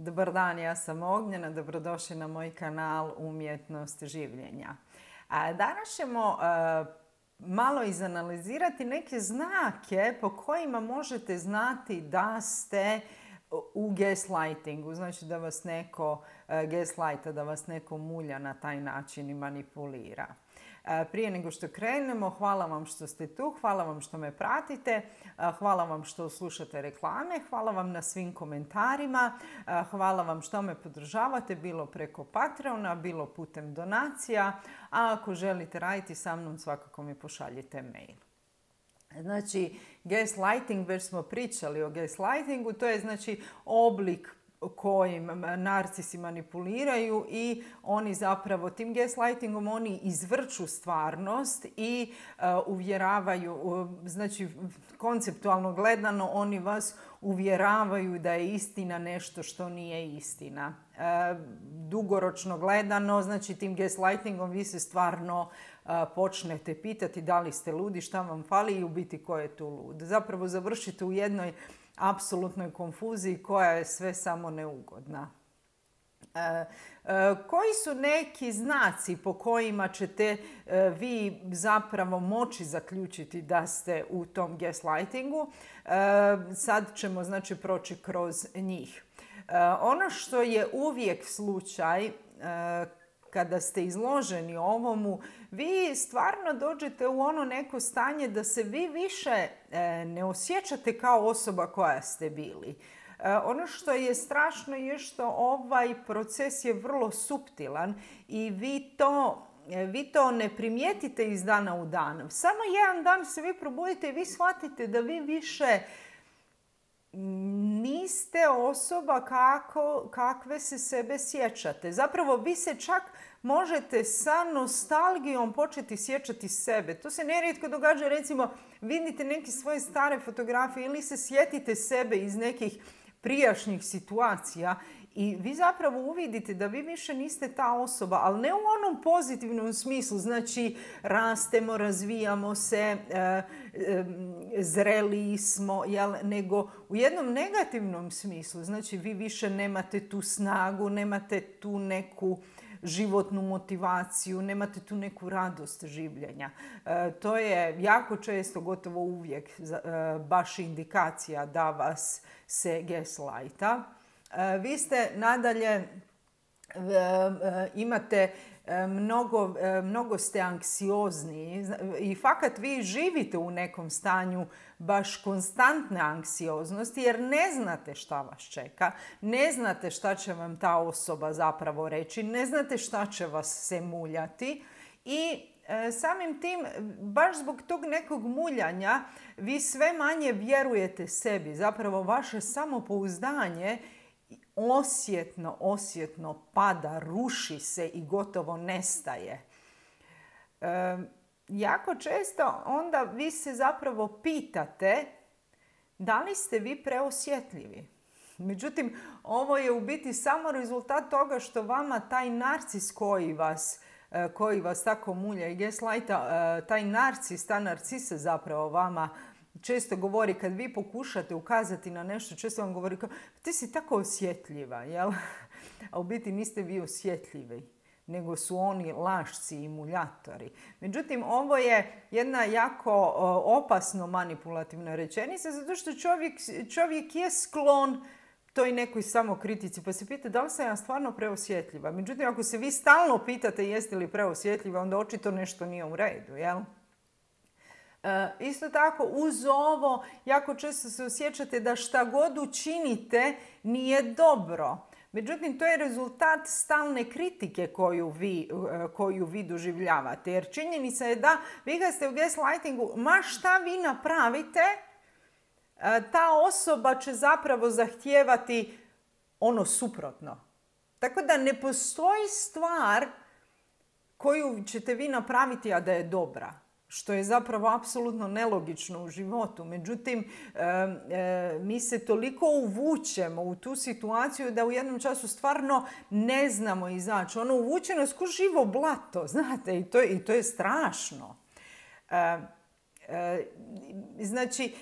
Dobar dan, ja sam Ognjena, dobrodošli na moj kanal Umjetnost življenja. Danas ćemo malo izanalizirati neke znake po kojima možete znati da ste u gaslightingu, znači da vas neko gaslighta, da vas neko mulja na taj način i manipulira. Prije nego što krenemo, hvala vam što ste tu, hvala vam što me pratite, hvala vam što slušate reklame, hvala vam na svim komentarima, hvala vam što me podržavate, bilo preko Patreona, bilo putem donacija, a ako želite raditi sa mnom, svakako mi pošaljite mail. Znači, gaslighting, već smo pričali o gaslightingu, to je znači oblik kojim narcisi manipuliraju i oni zapravo tim gaslightingom oni izvrću stvarnost i uvjeravaju, znači konceptualno gledano oni vas uvjeravaju da je istina nešto što nije istina. Dugoročno gledano, znači tim gaslightingom vi se stvarno počnete pitati da li ste ludi, šta vam fali i u biti ko je tu lud. Zapravo završite u jednoj apsolutnoj konfuziji koja je sve samo neugodna. Koji su neki znaci po kojima ćete vi zapravo moći zaključiti da ste u tom gaslightingu? Sad ćemo znači proći kroz njih. Ono što je uvijek slučaj kada ste izloženi ovomu, vi stvarno dođete u ono neko stanje da se vi više ne osjećate kao osoba koja ste bili. Ono što je strašno je što ovaj proces je vrlo suptilan i vi to ne primijetite iz dana u dan. Samo jedan dan se vi probudite i vi shvatite da vi više niste osoba kakve se sebe sjećate. Zapravo vi se čak možete sa nostalgijom početi sjećati sebe. To se nerijetko događa, recimo vidite neke svoje stare fotografije ili se sjetite sebe iz nekih prijašnjih situacija i vi zapravo uvidite da vi više niste ta osoba, ali ne u onom pozitivnom smislu, znači rastemo, razvijamo se, zreliji smo, nego u jednom negativnom smislu, znači vi više nemate tu snagu, nemate tu neku životnu motivaciju, nemate tu neku radost življenja. To je jako često, gotovo uvijek, baš indikacija da vas se gaslighta. Vi ste nadalje, imate mnogo ste anksiozni i fakat vi živite u nekom stanju baš konstantne anksioznosti jer ne znate šta vas čeka, ne znate šta će vam ta osoba zapravo reći, ne znate šta će vas se muljati i samim tim, baš zbog tog nekog muljanja, vi sve manje vjerujete sebi. Zapravo vaše samopouzdanje osjetno pada, ruši se i gotovo nestaje. Jako često onda vi se zapravo pitate da li ste vi preosjetljivi. Međutim, ovo je u biti samo rezultat toga što vama taj narcis koji vas tako mulja i gaslighta, taj narcis, ta narcisa zapravo vama često govori, kad vi pokušate ukazati na nešto, često vam govori kao ti si tako osjetljiva, jel? A u biti niste vi osjetljivi, nego su oni lašci i muljatori. Međutim, ovo je jedna jako opasno manipulativna rečenica, zato što čovjek je sklon toj nekoj samokritici, pa se pita da li sam ja stvarno preosjetljiva. Međutim, ako se vi stalno pitate jeste li preosjetljiva, onda očito nešto nije u redu, jel? Isto tako, uz ovo, jako često se osjećate da šta god učinite nije dobro. Međutim, to je rezultat stalne kritike koju vi doživljavate. Jer činjenica je da vi kad ste u gaslightingu, ma šta vi napravite, ta osoba će zapravo zahtijevati ono suprotno. Tako da ne postoji stvar koju ćete vi napraviti, a da je dobra. Što je zapravo apsolutno nelogično u životu. Međutim, mi se toliko uvučemo u tu situaciju da u jednom času stvarno ne znamo izaći. Ono uvuče nas ko živo blato, znate, i to je strašno. Znači,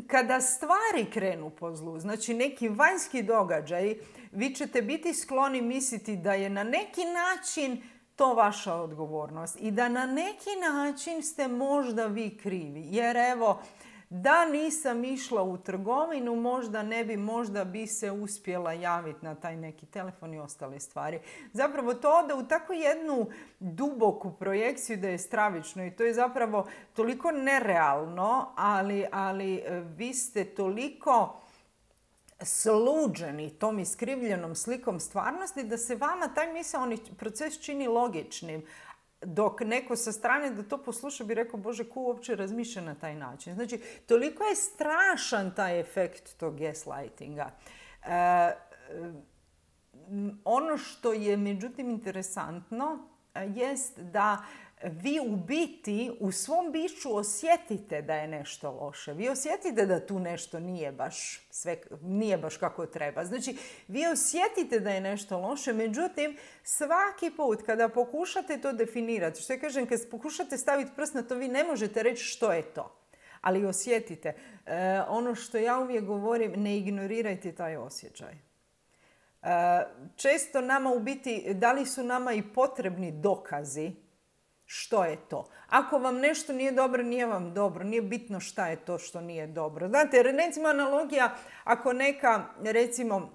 kada stvari krenu po zlu, znači neki vanjski događaj, vi ćete biti skloni misliti da je na neki način to vaša odgovornost i da na neki način ste možda vi krivi. Jer evo, da nisam išla u trgovinu, možda bi se uspjela javiti na taj neki telefon i ostale stvari. Zapravo to ode u takvu jednu duboku projekciju da je stravično i to je zapravo toliko nerealno, ali vi ste toliko sluđeni tom iskrivljenom slikom stvarnosti da se vama taj misaoni proces čini logičnim. Dok neko sa strane da to posluša bi rekao, Bože, ko uopće razmišlja na taj način. Znači, toliko je strašan taj efekt tog gaslightinga. Ono što je međutim interesantno jest da vi u biti u svom biću osjetite da je nešto loše. Vi osjetite da tu nešto nije baš kako treba. Znači, vi osjetite da je nešto loše, međutim, svaki put kada pokušate to definirati, što ja kažem, kad pokušate staviti prst na to, vi ne možete reći što je to. Ali osjetite. Ono što ja uvijek govorim, ne ignorirajte taj osjećaj. Često nama u biti, da li su nama i potrebni dokazi što je to. Ako vam nešto nije dobro, nije vam dobro. Nije bitno šta je to što nije dobro. Znate, recimo analogija, ako neka, recimo,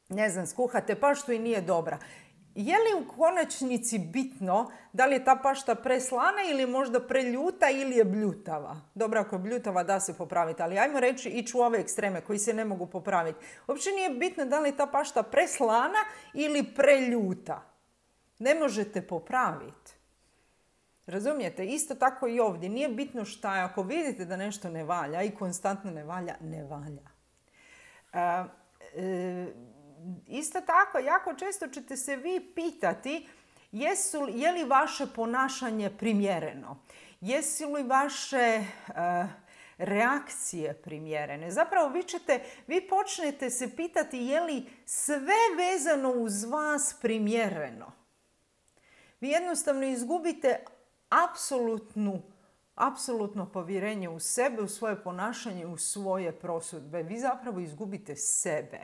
ne znam, skuhate paštu i nije dobra. Je li u konačnici bitno da li je ta pašta preslana ili možda preljuta ili je bljutava? Dobro, ako je bljutava da se popraviti, ali ajmo reći ići u ove ekstreme koji se ne mogu popraviti. Uopće nije bitno da li je ta pašta preslana ili preljuta. Ne možete popraviti. Razumijete? Isto tako i ovdje. Nije bitno šta je. Ako vidite da nešto ne valja i konstantno ne valja, ne valja. Isto tako, jako često ćete se vi pitati je li vaše ponašanje primjereno? Jesu li vaše reakcije primjerene? Zapravo vi počnete se pitati je li sve vezano uz vas primjereno. Vi jednostavno izgubite apsolutno povjerenje u sebe, u svoje ponašanje, u svoje prosudbe. Vi zapravo izgubite sebe.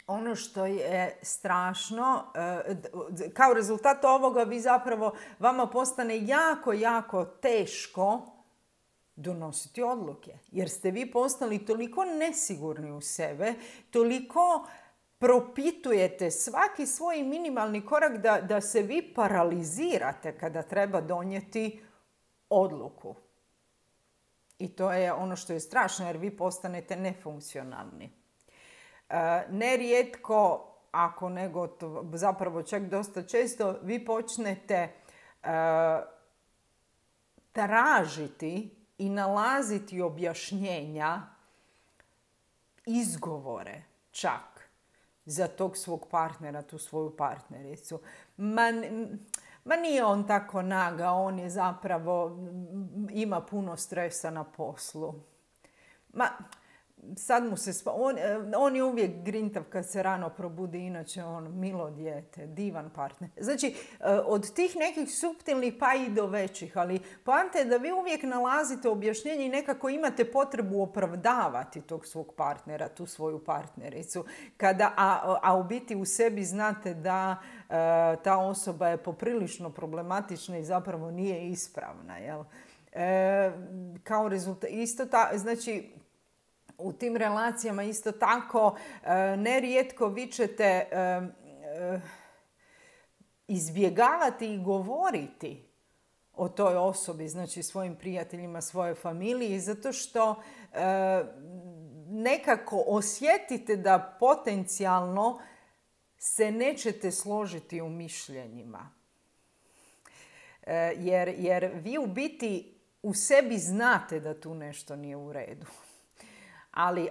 Ono što je strašno, kao rezultat ovoga vama postane jako, jako teško donositi odluke. Jer ste vi postali toliko nesigurni u sebe, toliko propitujete svaki svoj minimalni korak da se vi paralizirate kada treba donijeti odluku. I to je ono što je strašno jer vi postanete nefunkcionalni. Nerijetko, ako nego zapravo čak dosta često, vi počnete tražiti i nalaziti objašnjenja, izgovore čak za tog svog partnera, tu svoju partnericu. Ma nije on tako naga, on je zapravo, ima puno stresa na poslu. Sad mu se on je uvijek grintav kad se rano probudi, inače on milo dijete, divan partner. Znači, od tih nekih suptilnih pa i do većih, ali poanta je da vi uvijek nalazite objašnjenje i nekako imate potrebu opravdavati tog svog partnera, tu svoju partnericu. A u biti u sebi znate da ta osoba je poprilično problematična i zapravo nije ispravna. Jel? Kao rezultat, znači, u tim relacijama isto tako nerijetko vi ćete izbjegavati i govoriti o toj osobi, znači svojim prijateljima, svojoj familiji, zato što nekako osjetite da potencijalno se nećete složiti u mišljenjima. Jer vi u biti u sebi znate da tu nešto nije u redu.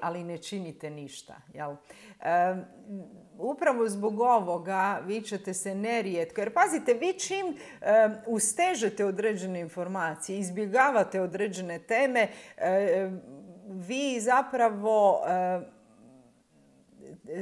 Ali ne činite ništa. Jel? Upravo zbog ovoga vi ćete se nerijetko, jer pazite, vi čim ustežete određene informacije, izbjegavate određene teme, vi zapravo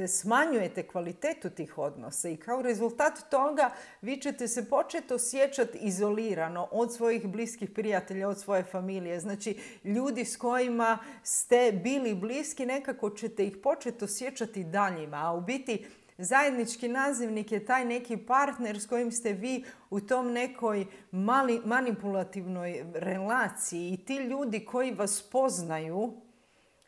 smanjujete kvalitetu tih odnosa i kao rezultat toga vi ćete se početi osjećati izolirano od svojih bliskih prijatelja, od svoje familije. Znači, ljudi s kojima ste bili bliski, nekako ćete ih početi osjećati daljima, a u biti zajednički nazivnik je taj neki partner s kojim ste vi u tom nekoj manipulativnoj relaciji i ti ljudi koji vas poznaju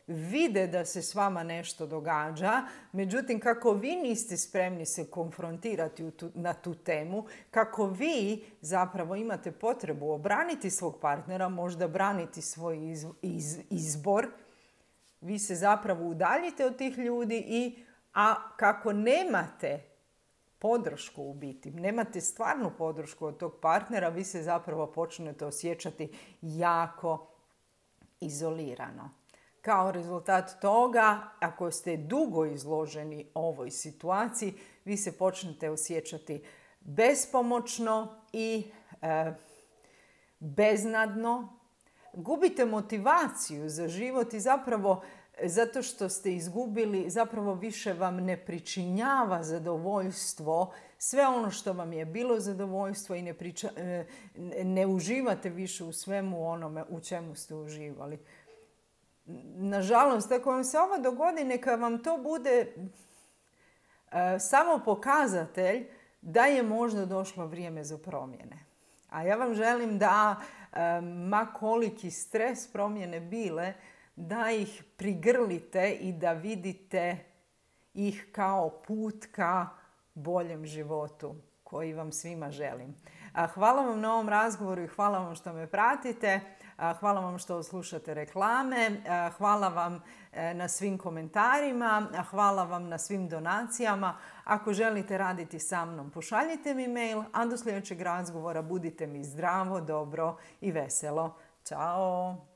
vide da se s vama nešto događa, međutim kako vi niste spremni se konfrontirati na tu temu, kako vi zapravo imate potrebu obraniti svog partnera, možda braniti svoj izbor, vi se zapravo udaljite od tih ljudi a kako nemate podršku u biti, nemate stvarnu podršku od tog partnera, vi se zapravo počnete osjećati jako izolirano. Kao rezultat toga, ako ste dugo izloženi ovoj situaciji, vi se počnete osjećati bespomoćno i beznadno. Gubite motivaciju za život i zapravo zato što ste izgubili, zapravo više vam ne pričinjava zadovoljstvo, sve ono što vam je bilo zadovoljstvo i ne uživate više u svemu onome u čemu ste uživali. Nažalost, ako vam se ovo dogodi, neka vam to bude samo pokazatelj da je možda došlo vrijeme za promjene. A ja vam želim da, ma koliki stres promjene bile, da ih prigrlite i da vidite ih kao put ka boljem životu koji vam svima želim. Hvala vam na ovom razgovoru i hvala vam što me pratite. Hvala vam što slušate reklame. Hvala vam na svim komentarima. Hvala vam na svim donacijama. Ako želite raditi sa mnom, pošaljite mi mail, a do sljedećeg razgovora budite mi zdravo, dobro i veselo. Ćao!